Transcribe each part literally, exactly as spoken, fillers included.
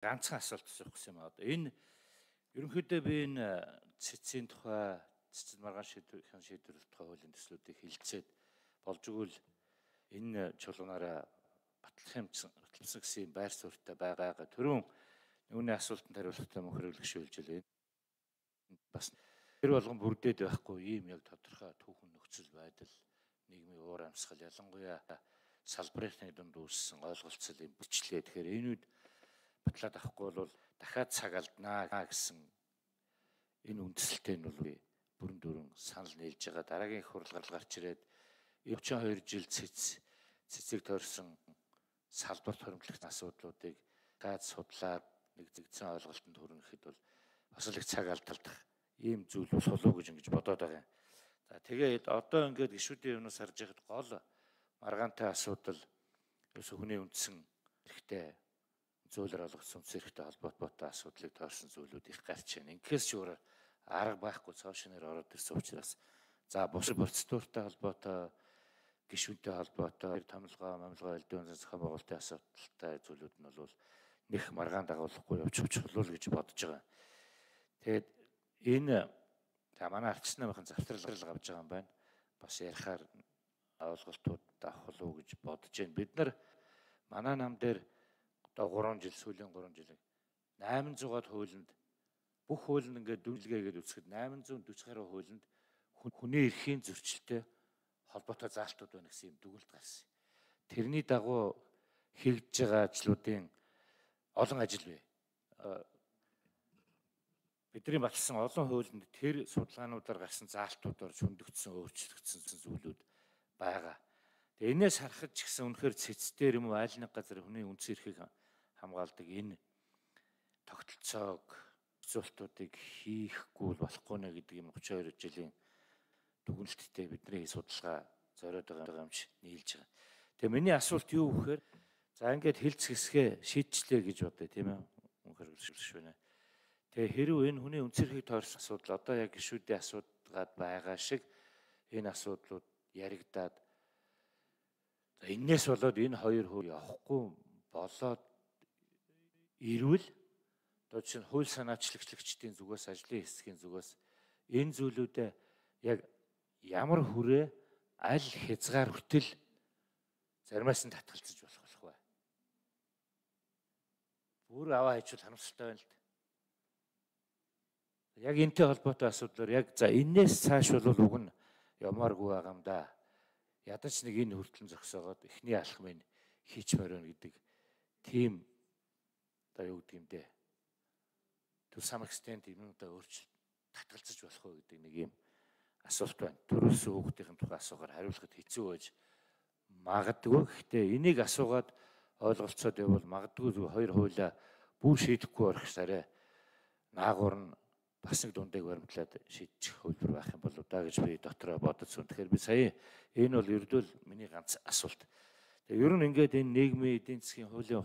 ганцхан асуулт асуух гэсэн юм аа. Одоо энэ ерөнхийдөө би энэ цэцгийн тухай, цэцэд маргаан шийдвэрийн шийдвэрлэх тухай хуулийн төслүүдийг хилцээд болж игэл энэ чуулганаараа батлах баталсан гэсэн байр суурьтай байгаагаа түрүүн үүний асуултанд хариулахтай мөн хэрэглэгшүүлж илээ. Бас тэр болгон бүрдээд байхгүй ийм яг тодорхой түүхэн нөхцөл байдал, нийгмийн уур амьсгал, ялангуяа салбарын дунд үүссэн ойлголцол юм бичлээ. Тэгэхээр энүүд батлаад авахгүй бол дахиад цаг алднаа гэсэн энэ үндсэлтэй нь бол бүрэн дүрэн санал нийлж байгаа. Дараагийн их хурал гарч ирээд ötchen хоёр жил цэц цэцэг тойрсон салбарт хоримтлах асуудлуудыг гад судлаад нэгдэгдсэн ойлголтод хүргэхэд бол бас л их цаг алдалдах ийм зүйл болох уу гэж ингэж бодоод байгаа юм. За тэгээд одоо ингээд гишүүдийн өмнөөс харж байхад гол маргаантай асуудал ерөөсө хүний үндсэн хэрэгтэй зүйлээр олгосон үндсэн хэрэгтэй холбоотой асуудлыг тойрсон зүйлүүд их гарч байна. Ингээс ч өөр арга байхгүй цаашнаар ороод ирсэн учраас за бус процедуртай холбоотой гишүүнтэй холбоотой томилгоо, мамилгоо, элдвэн зохион байгуулалтын асуудалтай зүйлүүд нь бол нэх маргаан дагуулахгүй явж чухал гэж бодож байгаа. Тэгээд энэ за манай арчс намынхан завтрал авж байгаа юм байна. Бас ярихаар ойлголтууд авах уу гэж бодож байна. Бид нар манай нам дээр одоо гурван жил сүүлийн гурван жилийн найман зугаад хуулинд бүх хуулинд ингээд дүнлэгээд үсгэд найман зуун дөрвөн гаруй хуулинд хүний эрхийн зөрчилтэй холбоотой заалтууд байна гэсэн юм дүгнэлт гарсан. Тэрний дагуу хэрэгжиж байгаа ажлуудын олон ажил бай. Бидний баталсан олон хуулинд тэр судалгаануудаар гарсан заалтуудаар шүндэгдсэн, өөрчлөгдсөн зүйлүүд байгаа. Тэгээ энээс харахад ч гэсэн үнэхээр цэцтэй юм уу аль нэг газар хүний үндсэн эрхийг хамгаалдаг энэ тогтолцоог зөрчилтүүдийг хийхгүй болохгүй нэ гэдэг юм тридцать хоёр жилийн дүгнэлттэй бидний судалгаа зориод байгаа юм чи нийлж байгаа. Тэгээ миний асуулт юу вэхээр за ингээд хэлц хэсгээ шийдчлээ гэж бодъё тийм ээ. Үнэхээр шүнэ. Тэгээ хэрв энэ хүний үндсэн эрхийг тойрсон асуудал одоо яг гишүүдийн асуудгаад байгаа шиг энэ асуудлууд яригадаад за энээс болоод энэ хоёр хууль явахгүй болоод ирвэл одоо чинь хууль санаачлагчлагчдын зүгээс ажлын хэсгийн зүгээс энэ зүйлүүдэд яг ямар хүрээ аль хязгаар хүртэл заримаас нь татгалзаж болох болох бай. Бүр аваа хийчихвэл харамсалтай байна л да. Яг энэтэй холбоотой асуудлаар яг за энээс цааш бол уг нь ямааргүй байгаа юм да. Ядаж нэг энэ хүртлэн зогсоогоод эхний алхмыг хийчмээр байна гэдэг тийм одоо юу гэдэг юм бэ? To some extent юм да өөрчлөлт татгалзаж болох уу гэдэг нэг юм асуулт байна. Төрөөс хүүхдийн тухай асуугаар хариулахад хэцүү байж магадгүй. Гэхдээ энийг асуугаад ойлголцоод явбал магадгүй хоёр хуулиа бүр шийдэхгүй орох сарай наагур нь бас нэг дундайг баримтлаад шийдчих хөлбөр байх юм болоо да гэж би дотроо бодсон. Тэгэхээр би сая энэ бол ердөө миний ганц асуулт. Тэгээ ер нь ингээд энэ нийгмийн эдийн засгийн хуулийн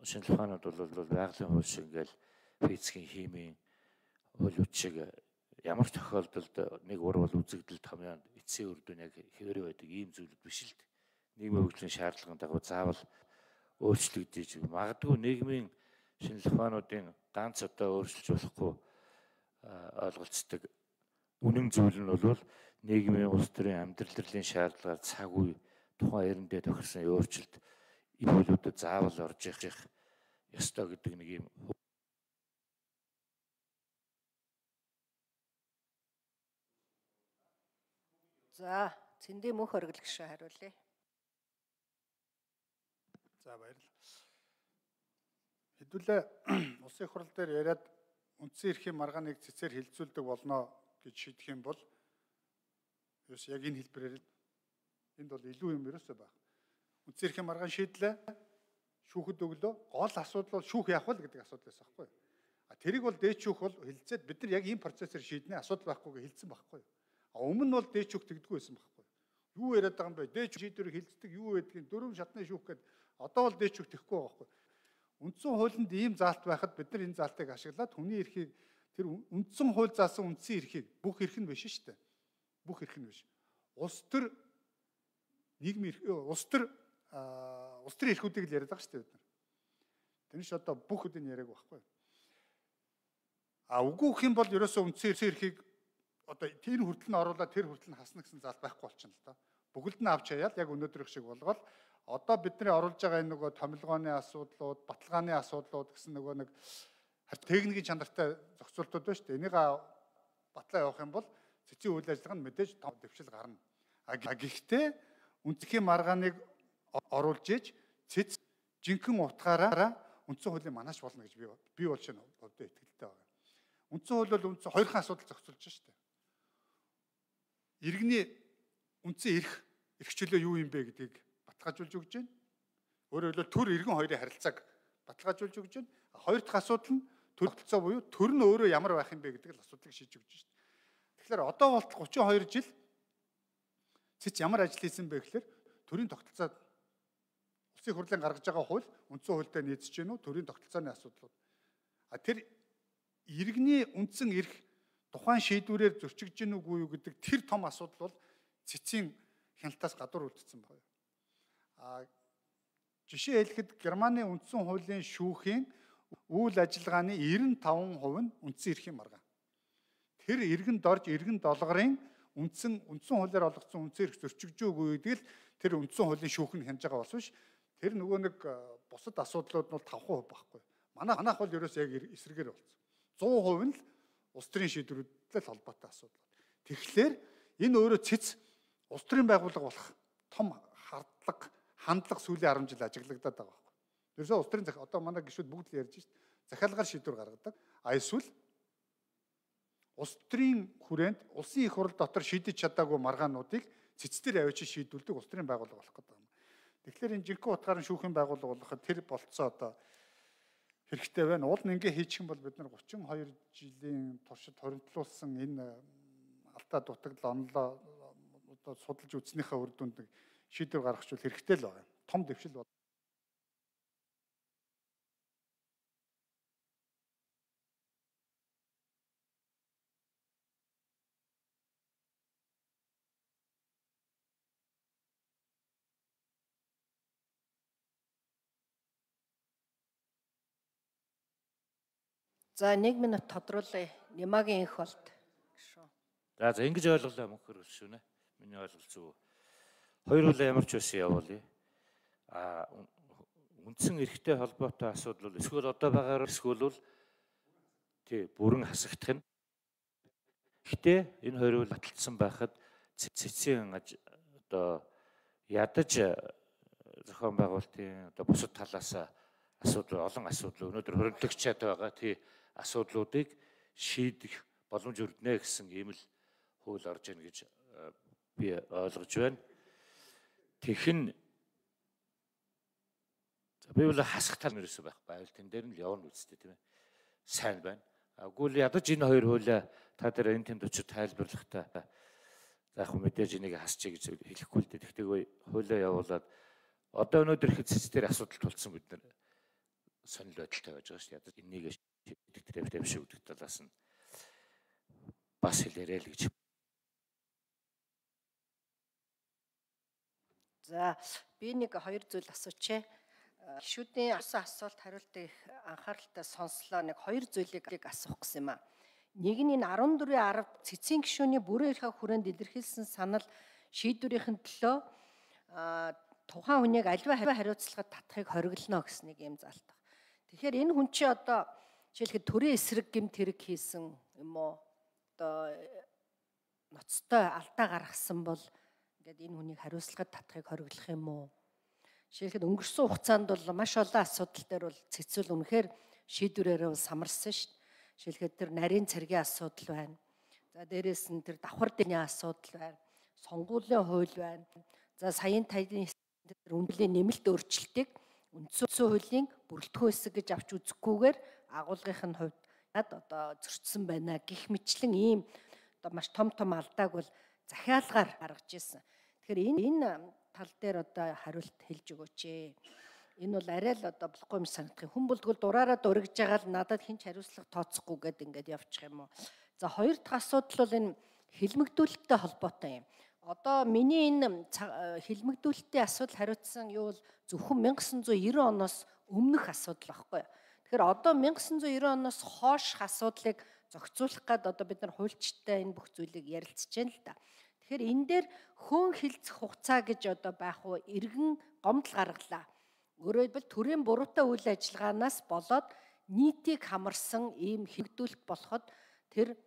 шинжилгээ ухаанууд бол байгалийн хууль шиг ингээл физикийн химийн хуулиуд шиг ямар ч тохиолдолд нэг ур бол үзэгдэл томьёонд эцсийн үр дүн яг хэвээрээ байдаг ийм зүйлүүд биш л дээ. Нийгмийн хөгжлийн шаардлагын дагуу заавал өөрчлөгдөж магадгүй нийгмийн шинжилгээ ухаануудын ганц одоо өөрчилж болохгүй ойлголцдог үнэн зүйл нь бол нийгмийн улс төрийн амьдрал төрлийн шаардлагаар цаг үе тухайн эрэндээ тохирсон өөрчлөлт энэ хуулиудад заавал орж ирэх ёстой гэдэг нэг юм. За цэндээ мөнх оргилгшээ хариулъя. За баярлалаа. Хэдүүлээ улсын хурал дээр яриад үндсэн эрхийн маргааныг цэцээр хилцүүлдэг болно гэж шийдэх юм бол ерөөс яг энэ хэлбэрээр энд бол илүү юм ерөөсөө баг. Үндсэн эрхийн маргаан шийдлээ шүүхэд өглөө гол асуудал бол шүүх явах л гэдэг асуудал байсан байхгүй юу? А тэрийг бол дээд шүүх бол хилцээд бид нар яг ийм процессор шийднэ асуудал байхгүйгээ хилцсэн байхгүй юу? А өмнө нь бол дээд шүүх тэгдэггүй байсан байхгүй юу? Юу яриад байгаа юм бэ? Дээд шийдвэрийг хилцдэг юу байдгийг дөрвөн шатны шүүх гэдэг одоо бол дээд шүүх тэхгүй байгаа байхгүй юу? Үндсэн хуулинд ийм заалт байхад бид нар энэ заалтыг ашиглаад хүний эрхийг тэр үндсэн хууль заасан үндсэн эрхийг бүх эрх нь биш шүү дээ. Бүх эрх нь биш. Улс төр нийгмийн эрх, улс төр улс төрийн эрхүүдийг л яриад байгаа шүү дээ бид нар. Энэ ч одоо бүх үдийн яриаг байхгүй. А үгүй гэх юм бол ерөөсөө үндсэн эрхийг одоо тэр хүртэл нь оруулаад тэр хүртэл нь хасна гэсэн заал байхгүй болчихно л доо. Бүгд нь авч хаяад яг өнөөдрийнх шиг болгоод одоо бидний оруулж байгаа энэ нөгөө томилгооны асуудлууд, баталгааны асуудлууд гэсэн нөгөө нэг техникийн чанартай зохицуултууд байна шүү дээ. Энийг батлаа явах юм бол цэцгийн үйл ажиллагаа нь мэдээж том дэвшил гарна. А гэхдээ үндсхийн маргааныг оруулж иж цэц жинхэнэ утгаараа үндсэн хуулийн манаач болно гэж би би бол шинэ хувьдаа итгэлтэй байна. Үндсэн хууль бол үндсэн хоёрхан асуудал зохицуулж байна шүү дээ. Иргэний үндсэн эрх, эрх чөлөө юу юм бэ гэдгийг баталгаажуулж өгч байна. Өөрөөр хэлбэл төр иргэн хоёрын харилцааг баталгаажуулж өгч байна. Хоёр дахь асуудал нь төр тогтолцоо буюу төр нь өөрөө ямар байх юм бэ гэдэг л асуудлыг шийдэж өгч байна. Тэгэхээр одоо болтол гучин хоёр жил цэц ямар ажил хийсэн бэ гэхээр төрийн тогтолцоо улсын хурлын гаргаж байгаа хууль үндсэн хуультай нийцэж гэнэ үү төрийн тогтолцооны асуудлууд. А тэр иргэний үндсэн эрх тухайн шийдвэрээр зөрчигдөж гэнэ үгүй юу гэдэг тэр том асуудал бол цэцийн хяналтаас гадуур үлдсэн байна. А жишээ хэлэхэд Германы үндсэн хуулийн шүүхийн үйл ажиллагааны девяносто таван хувь нь үндсэн эрхийн маргаан. Тэр иргэн дорж иргэн долгорын үндсэн үндсэн хуулиар олгоцсон үндсэн эрх зөрчигжөөгүй гэдэг л тэр үндсэн хуулийн шүүх нь хянаж байгаа болсон ш. Тэр нөгөө нэг бусад асуудлууд нь бол таван хувь байхгүй. Манай манайх бол ерөөс яг эсрэгээр болсон. сто хувь нь л улс төрийн шийдвэрүүдтэй холбоотой асуудал. Тэгэхээр энэ өөрөө цэц улс төрийн байгууллага болох том хардлага, хандлага сүүлийн арван жил ажиглагдаад байгаа байхгүй. Ерөөсөө улс төрийн захиалга одоо манай гишүүд бүгд л ярьж шít. Захиалгаар шийдвэр гаргадаг. А эсвэл улс төрийн хүрээнд улсын их хурл дотор шийдэж чадаагүй маргаануудыг цэцтэр авчиж шийдүүлдэг улс төрийн байгууллага болох гэдэг юм. Тэгэхээр энэ жинхэнэ утгаараа шүүхийн байгууллага болоход тэр болцоо одоо хэрэгтэй байна. Уул нь ингээ хийчих юм бол бид нар гучин хоёр жилийн туршид хоригдлуулсан энэ алдаа дутагдал онлоо одоо судалж үзснийхээ үр дүнд шийдвэр гаргахчвал хэрэгтэй л байна. Том дэвшил бол За нэг минут тодруулъя. Нямагийн их болт. За за ингэж ойлголоо мөнхөр шүнэ. Миний ойлголт зөв. Хоёр улаан ямар ч байсан явуулъя. А үндсэн эрхтэй холбоотой асуудал бол эсвэл одоо байгаагаар эсвэл тий бүрэн хасагдах нь. Гэхдээ энэ хоёр үл баталсан байхад цэцгийн одоо ядаж зохион байгуулалтын одоо бусад талаас асуудал олон асуудал өнөөдөр хоригдогчаад байгаа тий асуудлуудыг шийдэх боломж өрднэ гэсэн ийм л хууль орж ийн гэж би ойлгож байна. Тэхэн би бол хасах тал нэрсэн байх байвал тэн дээр нь л явна үстэй тийм ээ. Сайн байна. Аггүй л ядаж энэ хоёр хуулиа та дээр энэ тэмд очиж тайлбарлахтаа за яг мэдээж энийг хасчих гэж хэлэхгүй л дээ. Тэгтээ хуулиа явуулаад одоо өнөөдөр их цэцээр асуудал тулцсан бид нар сонир байдалтай байж байгаа шүү дээ. Ядаж энийг шийдэх тэрэвтэй биш үү гэдэг талаас нь бас хэлээрэй л гэж. За би нэг хоёр зүйл асуучээ. Гишүүдийн асуусан асуулт хариултыг анхааралтай сонслоо. Нэг хоёр зүйлийг асуух гэсэн юм аа. Нэг нь энэ арван дөрвийн арав цэцгийн гишүүний бүрэн эрхээ хүрээнд илэрхийлсэн санал шийдвэрийн төлөө тухайн хүнийг аливаа хариуцлагад татахыг хориглоно гэсэн нэг юм заалт. Тэгэхээр энэ хүн чи одоо жишээлбэл төрийн эсрэг гэмт хэрэг хийсэн юм уу? Одоо ноцтой алдаа гаргасан бол ингээд энэ хүнийг хариуцлагад татахыг хориглох юм уу? Жишээлбэл өнгөрсөн хугацаанд бол маш олон асуудал дээр бол цэцүүл үнэхээр шийдвэрээрээ самарсан шүү дээ. Жишээлбэл тэр нарийн цэргийн асуудал байна. За дээрээс нь тэр давхар дэний асуудал байна. Сонгуулийн хууль байна. За саяын таяны тэр үндэлийн нэмэлт өөрчлөлтийг үндсэн хуулийн бүрэлдэхүүн хэсэг гэж авч үзэхгүйгээр агуулгын хувьд одоо зөрчсөн байна гэх мэтлэн ийм одоо маш том том алдааг бол захиалгаар гаргаж ирсэн. Тэгэхээр энэ энэ тал дээр одоо хариулт хэлж өгөөч ээ. Энэ бол арай л одоо болохгүй юм санагдах. Хүн бол тэгвэл дураараа дургиж байгаа л надад хинч хариуцлага тооцохгүй гэд ингээд явчих юм уу. За хоёр дахь асуудал бол энэ хэлмэгдүүлэлттэй холбоотой юм. Одоо миний энэ хилмигдүүлэлтийн асуудал хариуцсан юу бол зөвхөн мянга девятьсот девяносто оноос өмнөх асуудал байхгүй. Тэгэхээр одоо мянга девятьсот девяносто оноос хойших асуудлыг зохицуулах гээд одоо бид нар хуульчтай энэ бүх зүйлийг ярилцж байна л да. Тэгэхээр энэ дээр хөөн хилцэх хугацаа гэж одоо байх уу иргэн гомдол гаргалаа. Өөрөөр хэлбэл төрийн буруутай үйл ажиллагаанаас болоод нийтийг хамарсан ийм хилмигдүүлэлт болоход тэр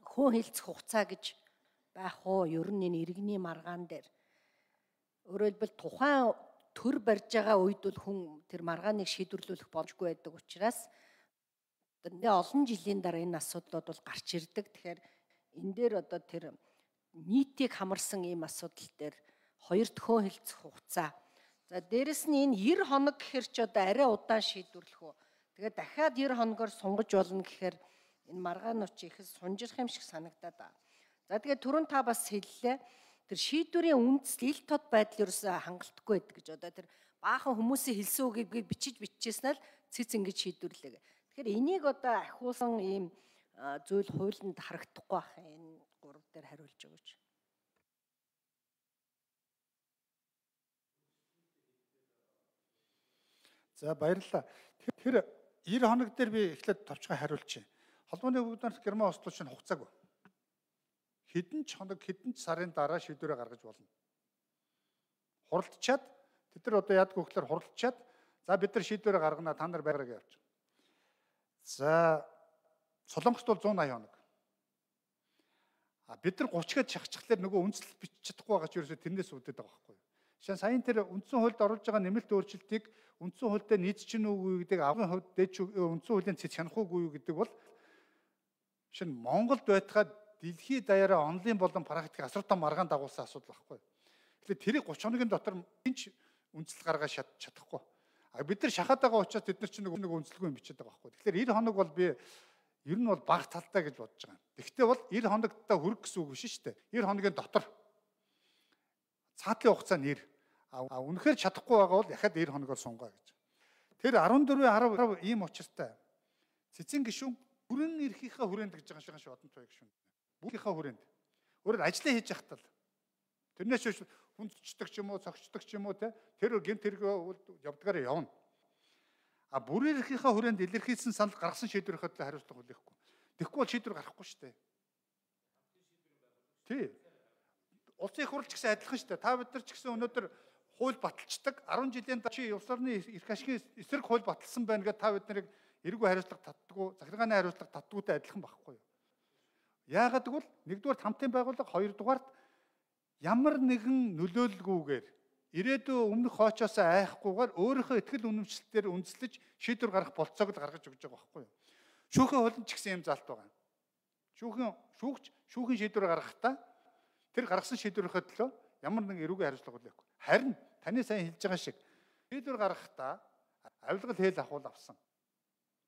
хөөн хилцэх хугацаа гэж байх уу ер нь энэ иргэний маргаан дээр. Өөрөөр хэлбэл тухайн төр барьж байгаа үед бол хүн тэр маргааныг шийдвэрлүүлэх боломжгүй байдаг учраас нэ олон жилийн дараа энэ асуудлууд бол гарч ирдэг. Тэгэхээр энэ дээр одоо тэр нийтийг хамарсан ийм асуудал дээр хоёр төхөн хилцэх хугацаа. За дээрэс нь энэ девяносто хоног гэхэр ч одоо арай удаан шийдвэрлэх үү. Тэгээд дахиад девяносто хоногоор сунгаж болно гэхээр энэ маргаанууд чи их сунжирх юм шиг санагдаад байна. За тэгээд түрүүн та бас хэллээ. Тэр шийдвэрийн үндэс ил тод байдал ерөөсөө хангалтгүй байдаг гэж одоо тэр баахан хүмүүсийн хэлсэн үгийг бичиж бичижсэн л цэц ингэж шийдвэрлэе. Тэгэхээр энийг одоо ахиулсан ийм зүйл хуулинд харагдахгүй байх энэ гурав дээр хариулж өгөөч. За баярлалаа. Тэр девяносто хоног дээр би эхлээд товчхон хариулчих. Холбооны өвгөнөөр Герман ослоо чинь хугацаагүй. Хэдэн ч хоног, хэдэн ч сарын дараа шийдвэрээ гаргаж болно. Хуралдчаад тэд нар одоо яадаг вэ гэхээр хуралдчаад за бид нар шийдвэрээ гаргана, та нар байгаарай гэж явж. За Солонгост бол one eighty хоног. А бид нар thirty гээд шахчихлаар нөгөө үндэслэл бичиж чадахгүй байгаа ч ерөөсөө тэрнээс үүдээд байгаа байхгүй юу. Жишээ нь саяын тэр үндсэн хуульд оруулж байгаа нэмэлт өөрчлөлтийг үндсэн хуультай нийцч нь үгүй гэдэг авгын хувьд дээд үндсэн хуулийн цэц хянах уугүй гэдэг бол жишээ нь Монголд байтгаад дэлхийд даяараа онлайн болон практик асар том маргаан дагуулсан асуудал байхгүй. Тэгэхээр тэрийг thirty хоногийн дотор хинч үндэслэл гаргаж чадахгүй. А бид нар шахаад байгаа учраас бид нар чинь нэг үндэслэлгүй юм бичээд байгаа байхгүй. Тэгэхээр ninety хоног бол би ер нь бол бага талтай гэж бодож байгаа. Гэхдээ бол ninety хоногтаа хүрэх гэсэн үг биш шүү дээ. ninety хоногийн дотор цаатлын хугацаа нэр. А үнэхээр чадахгүй байгаа бол дахиад ninety хоногоор сунгаа гэж. Тэр fourteen ten ийм учиртай. Цэцэн гишүүн бүрэн эрхийнхээ хүрээнд гэж байгаа шиг одон туй гишүүн. Бүгдийнхээ хүрээнд. Өөрөөр ажиллаа хийж яхтал. Тэрнээс ч хүндчдэг ч юм уу, цогцдог ч юм уу те тэр гэмт хэрэг явдгаараа явна. А бүрэн эрхийнхээ хүрээнд илэрхийлсэн санал гаргасан шийдвэрийн хөдлөө хариуцлага хүлээхгүй. Тэгэхгүй бол шийдвэр гарахгүй шүү дээ. Тий. Улсын их хурлч гэсэн адилхан шүү дээ. Та бид нар ч гэсэн өнөөдөр хууль баталцдаг ten жилийн дараа чи улс орны эрх ашигын эсрэг хууль баталсан байна гэдээ та бид нарыг эргүү хариуцлага татдаггүй, захиргааны хариуцлага татдаггүйтэй адилхан байхгүй юу? Яагаад гэвэл нэгдүгээр хамтын байгууллага, хоёрдугаарт ямар нэгэн нөлөөлөлгүйгээр ирээдүйн өмнөх хоочоос айхгүйгээр өөрийнхөө ихтгэл үнэмшлэлээр үндэслэж шийдвэр гаргах болцоог л гаргаж өгч байгаа байхгүй юу? Шүүхийн хуулинд ч гэсэн юм заалт байгаа. Шүүхийн шүүгч шүүхийн шийдвэр гаргахдаа тэр гаргасан шийдвэрийнхээ төлөө ямар нэгэн эрүүгийн хариуцлага хүлээхгүй. Харин таны сайн хэлж байгаа шиг шийдвэр гаргахдаа авилгал хээл ахуул авсан.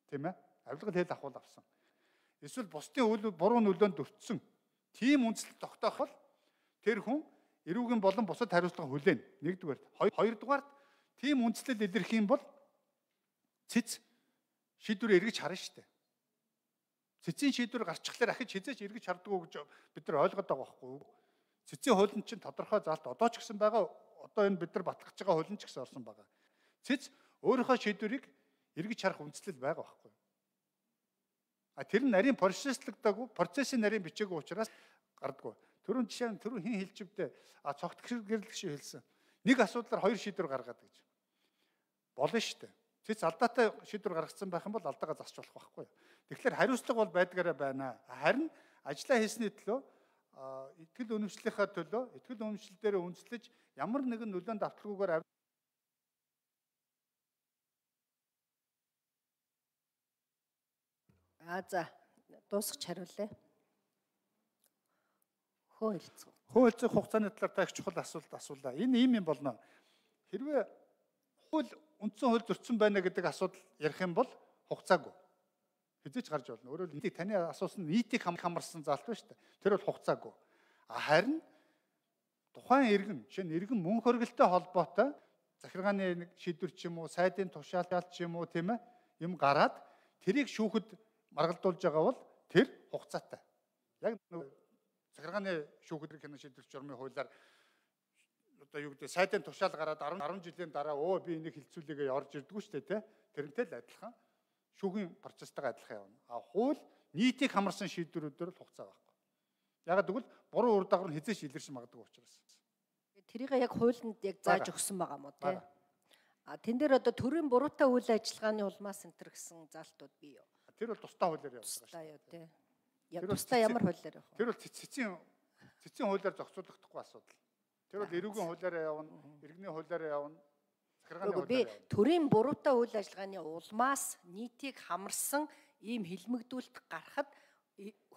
Тийм ээ? Авилгал хээл ахуул авсан. Эсвэл бусдын үйл буруу нөлөөнд өртсөн. Тийм үндэслэл тогтоох бол тэр хүн эрүүгийн болон бусад хариуцлага хүлээнэ. Нэгдүгээр. Хоёрдугаарт тийм үндэслэл илэрх юм бол цэц шийдвэр эргэж харна шүү дээ. Цэцийн шийдвэр гарчихлаар ахиж хизээч эргэж хардггүй гэж бид нар ойлгоод байгаа байхгүй юу? Цэцийн хуулийн чинь тодорхой заалт одоо ч гэсэн байгаа. Одоо энэ бид нар батлах байгаа хуулийн ч гэсэн орсон байгаа. Цэц өөрийнхөө шийдвэрийг эргэж харах үндэслэл байгаа байхгүй юу? А тэр нь нарийн процесслагдаагүй, процессын нарийн бичээгүй учраас гардаггүй. Төрөн жишээ нь түрүү хин хэлжвдээ а цогт гэрлэх шиг хэлсэн. Нэг асуудлаар хоёр шийдвэр гаргаад гэж. Болно шүү дээ. Цэц алдаатай шийдвэр гаргацсан байх юм бол алдаагаа засч болох байхгүй юу? Тэгэхээр хариуцлага бол байдгаараа байна. Харин ажиллаа хийсний төлөө итгэл үнэмшлийнхаа төлөө итгэл үнэмшил дээр үндэслэж ямар нэгэн нөлөөнд авталгүйгээр А за дуусгач хариулъя. Хөө хэлцүү. Хөө хэлцэх хугацааны талаар та их чухал асуулт асуулаа. Энэ ийм юм болно. Хэрвээ хууль үндсэн хууль зөрчсөн байна гэдэг асуудал ярих юм бол хугацаагүй. Хизээч гарч болно. Өөрөөр хэлбэл таны асуусан нийтийг хамарсан заалт байна шүү дээ. Тэр бол хугацаагүй. Харин тухайн иргэн, жишээ нь иргэн мөн хөргөлтэй холбоотой захиргааны нэг шийдвэр ч юм уу, сайдын тушаалт ч юм уу тийм ээ юм гараад тэрийг шүүхэд маргалдуулж байгаа бол тэр хугацаатай. Яг захиргааны шүүхэд хянан шийдвэрлэх журмын хуулиар одоо юу гэдэг сайдын тушаал гараад арван жилийн дараа өө би энийг хилцүүлээгээ орж ирдэггүй шүү дээ тий. Тэрнтэй л адилхан шүүхийн процесстайгаа адилхан явна. А хууль нийтийг хамарсан шийдвэрүүдээр л хугацаа байхгүй. Ягаад гэвэл буруу үр дагавар нь хязгаарч илэрч магадгүй учраас. Тэрийг яг хуулинд яг зааж өгсөн байгаа мó тий. А тэн дээр одоо төрийн буруутай үйл ажиллагааны улмаас энэ төр гэсэн залтууд бий юу? Тэр бол тусдаа хуулиар явуулдаг шүү Тусдаа юу тий. Яг тусдаа ямар хуулиар явах вэ? Тэр бол цэцэн цэцэн хуулиар зохицуулагдахгүй асуудал. Тэр бол эрүүгийн хуулиараа явна, иргэний хуулиараа явна, захиргааны хуулиараа би явна. төрийн буруутай үйл ажиллагааны улмаас нийтийг хамарсан ийм хилмигдүүлэлт гарахад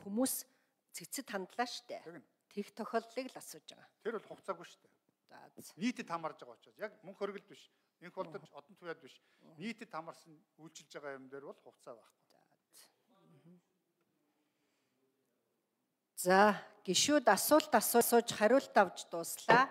хүмүүс цэцэд хандлаа штэ. Тех тохиолдлыг л асууж байгаа. Тэр бол хугацаагүй штэ. За нийтэд хамарж байгаа учраас яг мөнх хөргөлд биш, энх болдож одон туяад биш. Нийтэд хамарсан үйлчилж байгаа юм дээр бол хугацаа байхгүй. За гишүүд асуулт асууж хариулт авч дууслаа.